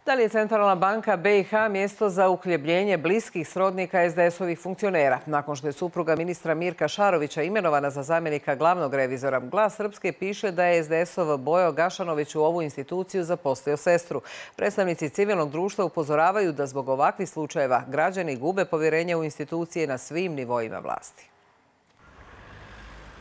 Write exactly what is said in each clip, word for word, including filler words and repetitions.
Da li je Centralna banka B i H mjesto za uhljebljenje bliskih srodnika es de esovih funkcionera? Nakon što je supruga ministra Mirka Šarovića imenovana za zamjenika glavnog revizora, Glas Srpske piše da je es de esov Bojo Gašanović u ovu instituciju zaposlio sestru. Predstavnici civilnog društva upozoravaju da zbog ovakvih slučajeva građani gube povjerenje u institucije na svim nivoima vlasti.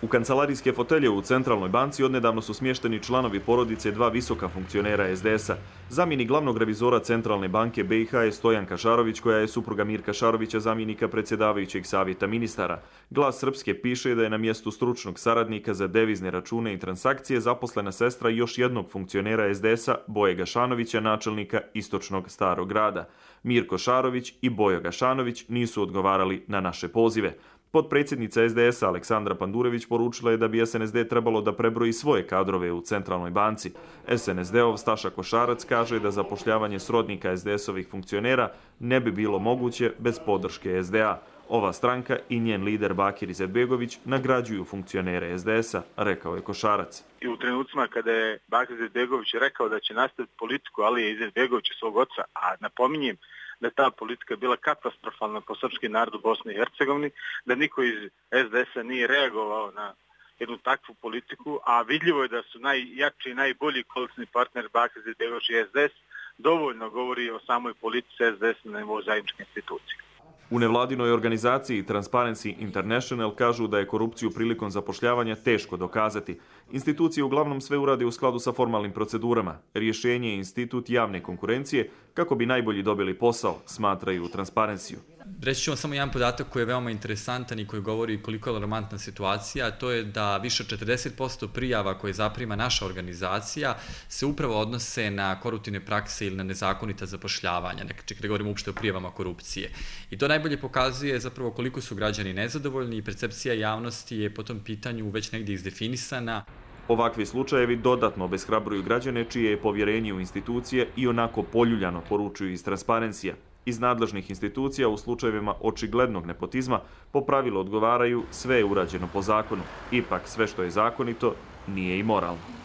U kancelarijske fotelje u Centralnoj banci odnedavno su smješteni članovi porodice dva visoka funkcionera es de esa. Zamjenik glavnog revizora Centralne banke B i H je Stojan Kašarović, koja je supruga Mirka Šarovića, zamjenika predsjedavajućeg savjeta ministara. Glas Srpske piše da je na mjestu stručnog saradnika za devizne račune i transakcije zaposlena sestra još jednog funkcionera es de esa, Boje Gašanovića, načelnika Istočnog Starog grada. Mirko Šarović i Bojo Gašanović nisu odgovarali na naše pozive. Potpredsjednica es de esa Aleksandra Pandurević poručila je da bi es en es de trebalo da prebroji svoje kadrove u Centralnoj banci. es en es de-ov Staša Košarac kaže da zapošljavanje srodnika es de esovih funkcionera ne bi bilo moguće bez podrške es de a. Ova stranka i njen lider Bakir Izetbegović nagrađuju funkcionere es de esa, rekao je Košarac. I u trenucima kada je Bakir Izetbegović rekao da će nastaviti politiku, ali je Izetbegović svog oca, a napominjem da ta politika bila katastrofalna po srpski narod u Bosni i Hercegovini, da niko iz es de esa nije reagovao na jednu takvu politiku, a vidljivo je da su najjači i najbolji koalicijni partner Bakir Izetbegović i es de es, dovoljno govori o samoj politici es de esa na nivou zajedničke institucije. U nevladinoj organizaciji Transparency International kažu da je korupciju prilikom zapošljavanja teško dokazati. Institucije uglavnom sve urade u skladu sa formalnim procedurama. Rješenje je institut javne konkurencije kako bi najbolji dobili posao, smatraju u Transparencyu. Reći ću vam samo jedan podatak koji je veoma interesantan i koji govori koliko je alarmantna situacija, a to je da više od četrdeset posto prijava koje zaprima naša organizacija se upravo odnose na koruptivne prakse ili na nezakonita zapošljavanja, čak da govorimo uopšte o prijavama korupcije. I to najbolje pokazuje zapravo koliko su građani nezadovoljni i percepcija javnosti je po tom pitanju već negdje izdefinisana. Ovakvi slučajevi dodatno obeshrabruju građane čije je povjerenje u institucije i onako poljuljano, poručuju iz Transparencija. Iz nadležnih institucija u slučajevima očiglednog nepotizma po pravilu odgovaraju sve je urađeno po zakonu. Ipak sve što je zakonito nije i moralno.